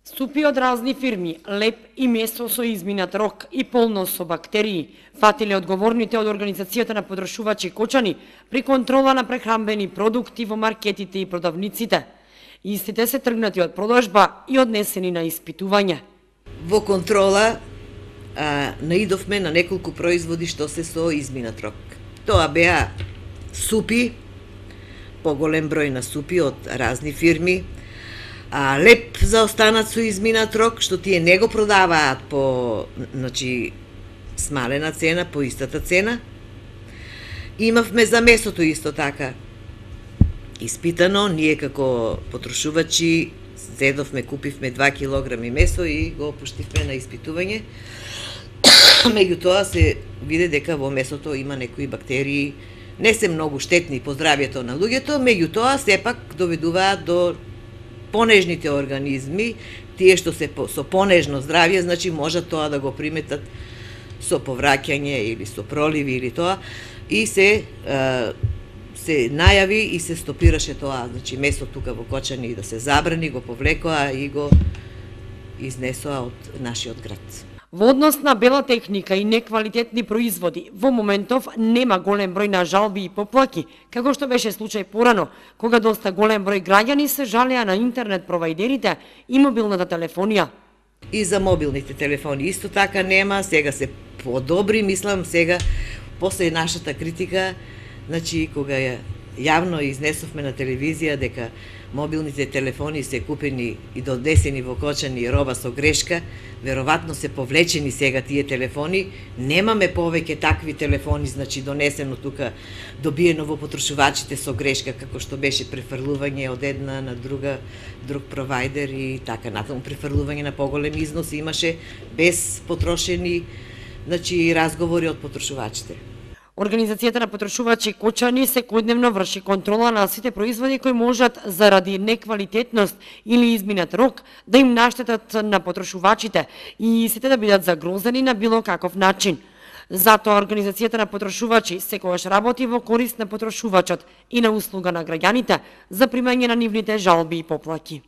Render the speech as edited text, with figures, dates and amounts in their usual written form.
Супи од разни фирми, леп и месо со изминат рок и полно со бактерии, фатиле одговорните од Организацијата на потрошувачи Кочани при контрола на прехранбени продукти во маркетите и продавниците. Истите се тргнати од продажба и однесени на испитување. Во контрола наидовме на неколку производи што се со изминат рок. Тоа беа супи, поголем број на супи од разни фирми, леп за останат со изминат рок, што тие не го продаваат по смалена цена, по истата цена. Имавме за месото исто така. Испитано, ние како потрошувачи зедовме, купивме 2 килограми месо и го пуштивме на испитување. Меѓутоа се виде дека во месото има некои бактерии, не се многу штетни по здравјето на луѓето, меѓутоа сепак доведуваат до понежните организми, тие што се со понежно здравје, значи можат тоа да го приметат со повраќање или со проливи или тоа, и се најави и се стопираше тоа, значи месо тука во Кочани да се забрани, го повлекоа и го изнесоа од нашиот град. Во однос на бела техника и неквалитетни производи, во моментов нема голем број на жалби и поплаки, како што беше случај порано, кога доста голем број граѓани се жалеа на интернет провајдерите и мобилната телефонија. И за мобилните телефони исто така нема, сега се подобри, мислам сега, после нашата критика, значи кога јавно изнесовме на телевизија дека мобилните телефони се купени и донесени во Кочани роба со грешка, веројатно се повлечени сега тие телефони, немаме повеќе такви телефони, значи донесено тука, добиено во потрошувачите со грешка, како што беше префрлување од една на друг провајдер и така натаму, префрлување на поголем износ имаше без потрошени, значи разговори од потрошувачите. Организацијата на потрошувачи Кочани секојдневно врши контрола на сите производи кои можат заради неквалитетност или изминат рок да им наштетат на потрошувачите и сите да бидат загрозени на било каков начин. Затоа Организацијата на потрошувачи секогаш работи во корист на потрошувачот и на услуга на граѓаните за примање на нивните жалби и поплаки.